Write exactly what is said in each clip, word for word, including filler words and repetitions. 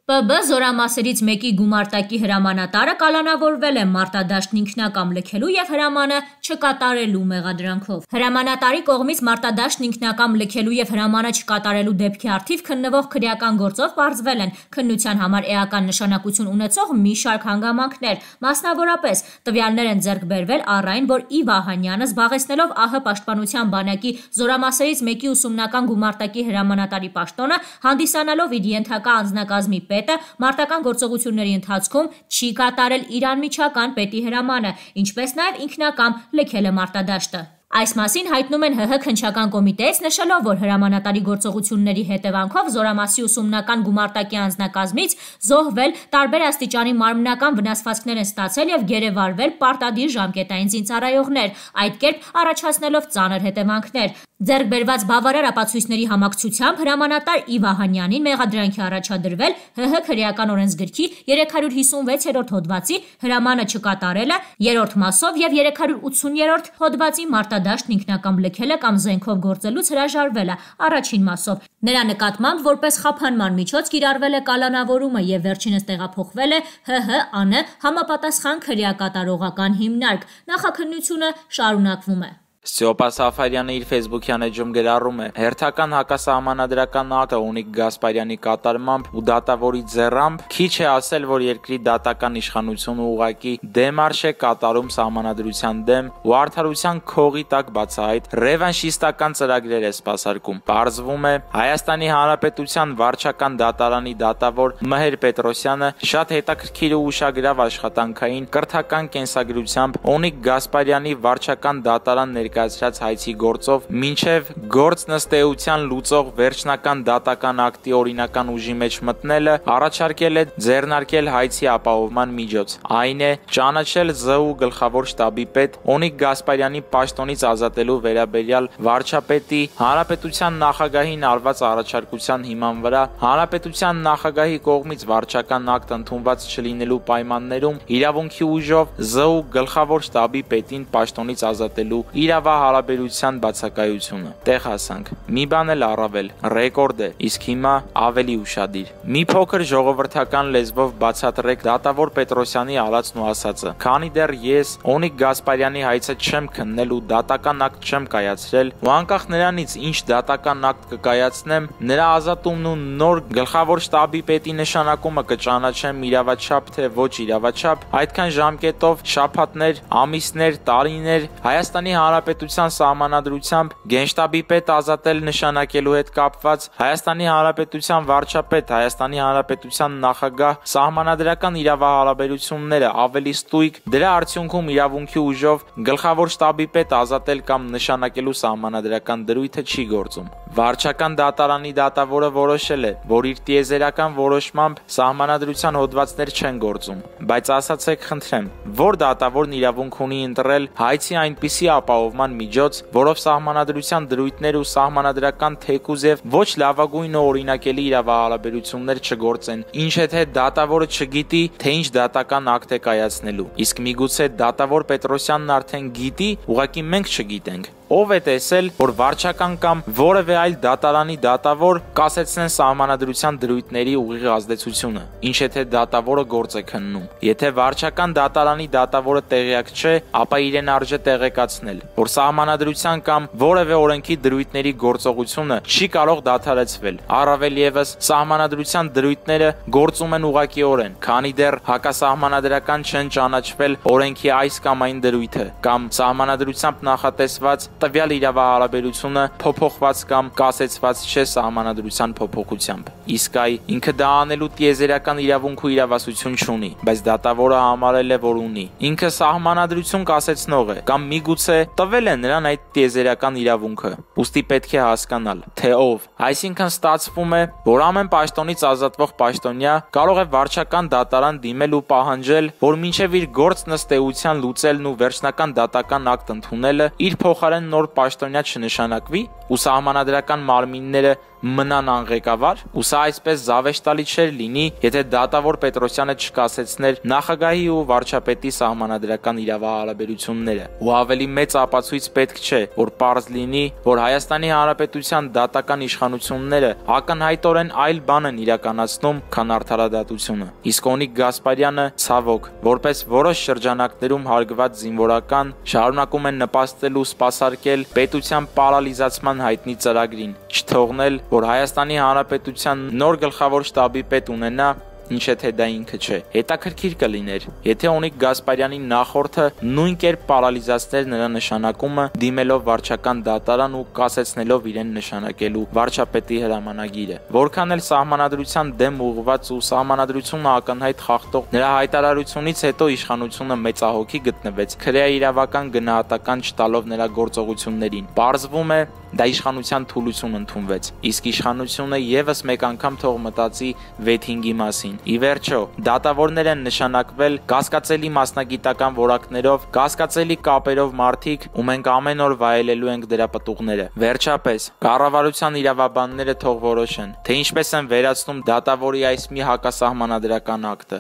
Պ B զորամասերից մեկի գումարտակի հրամանատարը կալանավորվել է մարտադաշտն ինքնակամ լքելու և հրամանը չկատարելու մեղադրանքով։ Հրամանատարի կողմից մարտադաշտն ինքնակամ լքելու և հրամանը չկատարելու դեպքի առթիվ քննվող քրեական գործով պարզվել են քննության համար էական նշանակություն ունեցող մի շարք հանգամանքներ, մասնավորապես տվյալներ են ձեռք բերվել առ այն, որ Ի Վահանյանը զբաղեցնելով ԱՀ պաշտպանության բանակի զորամասերից մեկի ուսումնական գումարտակի հրամանատարի պաշտոնը, հանդիսանալով իր ենթակա անձնակազմի պետը մարտական գործողությունների ընթացքում չի կատարել իր անմիջական պետի հրամանը, ինչպես նաև ինքնակամ լքել է մարտադաշտը։ Այս մասին հայտնում են ՀՀ քննչական կոմիտեից, նշելով, որ հրամանատարի գործողությունների հետևանքով զորամասի ուսումնական գումարտակի անձնակազմից զոհվել, տարբեր աստիճանի մարմնական վնասվածքներ են ստացել և գերեվարվել պարտադիր ժամկետային զինծառայողներ, այդ կերպ առաջացնելով ծանր հետևանքներ։ Ձեռք բերված բավարար ապացույցների համակցությամբ հրամանատար Ի Վահանյանին մեղադրանքի առաջադրվել ՀՀ քրեական օրենսգրքի երեք հարյուր հիսունվեցերորդ հոդվածի հրամանը չկատարելը երրորդ մասով և երեք հարյուր ութսուներորդ հոդվածի մարտադաշտն ինքնակամ լքելը կամ զենքով գործելուց հրաժարվելը առաջին մասով։ Նրա նկատմամբ որպես խափանման միջոց կիրառվել է կալանավորումը և վերջինս տեղափոխվել է ՀՀ ԱՆ համապատասխան քրեակատարողական հիմնարկ։ Նախաքննությունը շարունակվում է։ Ստեփան Սաֆարյանը իր ֆեյսբուքյան էջում գրառում է. հերթական հակասահմանադրական ակտը Ունիկ Գասպարյանի կատարմամբ ու դատավորի ձեռամբ քիչ է ասել, որ երկրի դատական իշխանությունը ուղղակի դեմարշ է կատարում սահմանադրության դեմ ու արդարության քողի տակ բացահայտ ռևանշիստական ծրագրեր է սպասարկում։ Պարզվում է, Հայաստանի Հանրապետության վարչական դատարանի դատավոր Մհեր Պետրոսյանը շատ հետաքրքիր ու ուշագրավ աշխատանքային կրթական կենսագրությամբ Ունիկ Գասպարյանի վարչական դատարան ներկայացրած հայցի գործով մինչև գործ նստեության լուծող վերջնական դատական ակտի օրինական ուժի մեջ մտնելը առաջարկել է ձեռնարկել հայցի ապահովման միջոց, այն է ճանաչել ԶՈՒ գլխավոր շտաբի պետ Ունիկ Գասպարյանի պաշտոնից ազատելու վերաբերյալ վարչապետի հանրապետության նախագահին արված առաջարկության հիման վրա հանրապետության նախագահի կողմից վարչական ակտ ընդունված չլինելու պայմաններում իրավունքի ուժով ԶՈՒ գլխավոր շտաբի պետին պաշտոնից ազատելու իրավահարաբերության բացակայությունը։ Տեղ հասանք։ Մի բան էլ առավել, ռեկորդ է, իսկ հիմա ավելի ուշադիր։ Մի փոքր ժողովրդական լեզվով բացատրեք դատավոր Պետրոսյանի ալացն ու ասածը։ Քանի դեռ ես Ունիկ Գասպարյանի հայցը չեմ քննել ու դատական ակտ չեմ կայացրել, ու անկախ նրանից ինչ դատական ակտ կկայացնեմ, նրա ազատումն ու նոր գլխավոր շտաբի պետի նշանակումը կճանաչեմ իրավաչափ թե ոչ իրավաչափ, այդքան ժամկետով, շաբաթներ, ամիսներ, տարիներ Հայաստանի Հանրապետության սահմանադրությամբ գենշտաբի պետ ազատել նշանակելու հետ կապված Հայաստանի Հանրապետության վարչապետ, Հայաստանի Հանրապետության նախագահ սահմանադրական իրավահարաբերությունները ավելի ստույգ, դրա արդյունքում իրավունքի ուժով գլխավոր շտաբի պետ ազատել կամ նշանակելու սահմանադրական դրույթը չի գործում։ Վարչական դատարանի դատավորը որոշել է, որ իր տիեզերական որոշմամբ սահմանադրության հոդվածներ չեն գործում, բայց ասացեք խնդրեմ, որ դատավորն իրավունք ունի ընտրել հայցի այնպիսի ապահովման միջոց, որով սահմանադրության դրույթներ ու սահմանադրական թեկուզ եւ ոչ լավագույն ու օրինակելի իրավահարաբերություններ չգործեն, ինչ եթե դատավորը չգիտի, թե ինչ դատական ակտ է կայացնելու։ Իսկ միգուցե դատավոր Պետրոսյանն արդեն գիտի, ուղղակի մենք չգիտենք։ Ով է տեսել, որ վարչական կամ որևէ այլ դատարանի դատավոր կասեցնեն սահմանադրության դրույթների ուղիղ ազդեցությունը, ինչ եթե դատավորը գործ է քննում։ Եթե վարչական դատարանի դատավորը տեղյակ չէ, ապա իրեն արժե տեղեկացնել, որ սահմանադրության կամ որևէ օրենքի դրույթների գործողությունը չի կարող դադարեցվել։ Առավել ևս, սահմանադրության դրույթները գործում են ուղղակիորեն, քանի դեռ հակասահմանադրական չեն ճանաչվել օրենքի այս կամ այն դրույթը, կամ սահմանադրությամբ նախատեսված տվյալ իրավահարաբերությունը փոփոխված կամ կասեցված չէ սահմանադրության փոփոխությամբ։ Իսկ այ ինքը դա անելու տիեզերական իրավունք ու իրավասություն չունի, բայց դատավորը համարել է, որ ունի։ Ինքը սահմանադրություն կասեցնող է, կամ միգուցե տվել է նրան այդ տիեզերական իրավունքը։ Ուստի պետք է հասկանալ, թե ով։ Այսինքն ստացվում է, որ ամեն պաշտոնից ազատվող պաշտոնյա կարող է վարչական դատարան դիմել ու պահանջել, որ մինչև իր գործ նստեության լուծելն ու վերջնական դատական ակտ ընդունելը իր փոխարեն նոր պաշտոնյա չնշանակվի ու սահմանադրական մարմինները մնան անղեկավար, ու սա այսպես զավեշտալի չէր լինի, եթե դատավոր Պետրոսյանը չկասեցներ նախագահի ու վարչապետի սահմանադրական իրավահարաբերությունները։ Ու ավելի մեծ ապացույց պետք չէ, որ պարզ լինի, որ Հայաստանի Հանրապետության դատական իշխանությունները ակնհայտորեն այլ բան են իրականացնում, քան արդարադատությունը։ Իսկ Օնիկ Գասպարյանը, ցավոք, որպես որոշ շրջանակներում հարգված զինվորական, շարունակում են նպաստել ու սպասարկել պետության պարալիզացման հայտնի ծրագրին, չթողնել, որ Հայաստանի Հանրապետության նոր գլխավոր շտաբի պետ ունենա, ինչ թե դա ինքը չէ։ Հետաքրքիր կլիներ, եթե Օնիկ Գասպարյանի նախորդը նույն կերպ պարալիզացներ նրա նշանակումը, դիմելով վարչական դատարան ու կասեցնելով իրեն նշանակելու վարչապետի հրամանագիրը։ Որքան էլ սահմանադրության դեմ ուղղված ու սահմանադրությունը ակնհայտ խախտող նրա հայտարարությունից հետո իշխանությունը մեծահոգի գտնվեց, քրեա իրավական գնահատական չտալով նրա գործողություններին։ Պարզվում է, դա իշխանության թուլություն ընդունվեց, իսկ իշխանությունը եւս մեկ անգամ թող մտածի վեթինգի մասին։ Ի վերջո, դատավորներ են նշանակվել կասկածելի մասնագիտական որակներով, կասկածելի կապերով մարդիկ, ու մենք ամեն օր վայելելու ենք դրա պտուղները։ Վերջապես, կառավարության իրավաբանները թող որոշեն, թե ինչպես են վերացնում դատավորի այս մի հակասահմանադրական ակտը։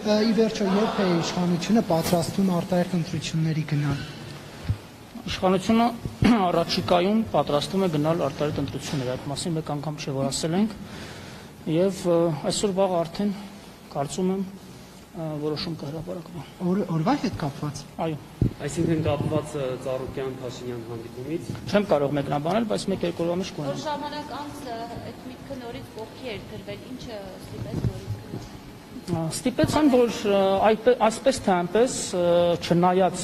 Ի վերջո, երբ է իշխանությունը պատրաստվում արտահերթ ընտրությունների գնալ։ Իշխանությունը առաջիկայում պատրաստվում է գնալ արտահերթ ընտրությունների, այդ մասին մեկ անգամ չէ որ ասել ենք, եւ այսօր վաղ արդեն կարծում եմ որոշում կհրապարակվի։ Օրվա հետ կապված։ Այո։ Այսինքն կապված Ծառուկյան-Փաշինյան հանդիպումից։ Չեմ կարող մեկնաբանել, բայց մեկ-երկու օրվա մեջ կունենամ։ Որ ժամանակ անց այդ միտքը նորից կողքի էր դրվել, ինչը ստիպեց նորից գնալ։ Ստիպեց այն, որ այսպես թե այնպես չնայած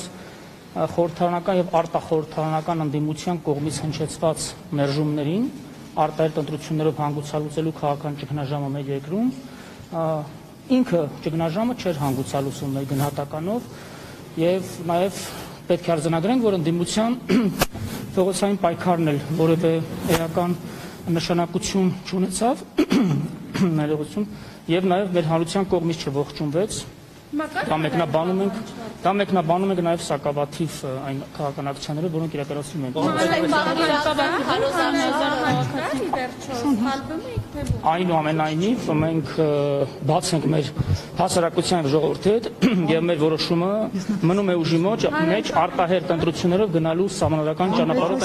խորհրդարանական եւ արտախորհրդարանական ընդդիմության կողմից հնչեցված մերժումներին, արտահերթ ընտրություններով հանգուցալուծելու քաղաքական ճգնաժամը մեր երկրում, ինքը ճգնաժամը չէր հանգուցալուծում մեր գնահատականով եւ նաեւ պետք է արձանագրենք, որ ընդդիմության փողոցային պայքարն էլ որևէ էական նշանակություն չունեցավ, ներողություն, եւ նաեւ մեր հանրության կողմից չողջունվեց։ Դա մեկնաբանում ենք, դա մեկնաբանում ենք նաև սակավաթիվ այն քաղաքական ակցիաները, որոնք իրականացվում են։ Այնուամենայնիվ մենք բաց ենք մեր հասարակության ժողովրդի հետ եւ մեր որոշումը մնում է ուժի մեջ արտահերթ ընտրություններով գնալու սահմանադրական ճանապարհով։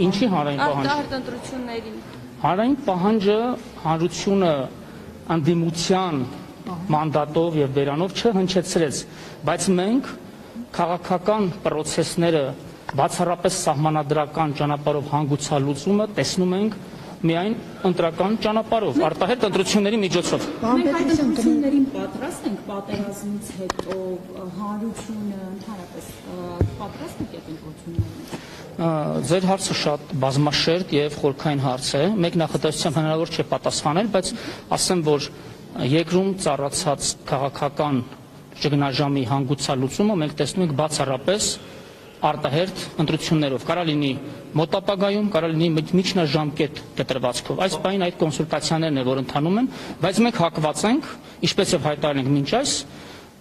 Ինչի հանրային պահանջ։ Արտահերթ ընտրություններին։ Հանրային պահանջը հանրությունը անդիմության մանդատով եւ բերանով չհնչեցրեց, բայց մենք քաղաքական պրոցեսները բացառապես սահմանադրական ճանապարհով հանգուցալուծումը տեսնում ենք միայն ընտրական ճանապարհով, արտահերթ ընտրությունների միջոցով։ Մենք այդ ընտրություններին պատրաստ ենք պատերազմից հետո հանրությունը ընդհանրապես պատրաստ է այդ ընտրություններին։ Ձեր հարցը շատ բազմաշերտ եւ խորքային հարց է։ Մեկ նախատեսությամբ հնարավոր չէ պատասխանել, բայց ասեմ, որ երկրում ծառացած քաղաքական ճգնաժամի հանգուցալուծումը մենք տեսնում ենք բացառապես արտահերթ ընտրություններով։ Կարա լինի մոտ ապագայում, կարա լինի միջնաժամկետ կտրվածքով։ Այս բանին այդ կոնսուլտացիաներն են, որ ընթանում են, բայց մենք հակված ենք, ինչպես եւ հայտարարել ենք մինչ այս,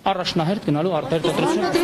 առաջնահերթ գնալու արտահերթ ընտրությունների։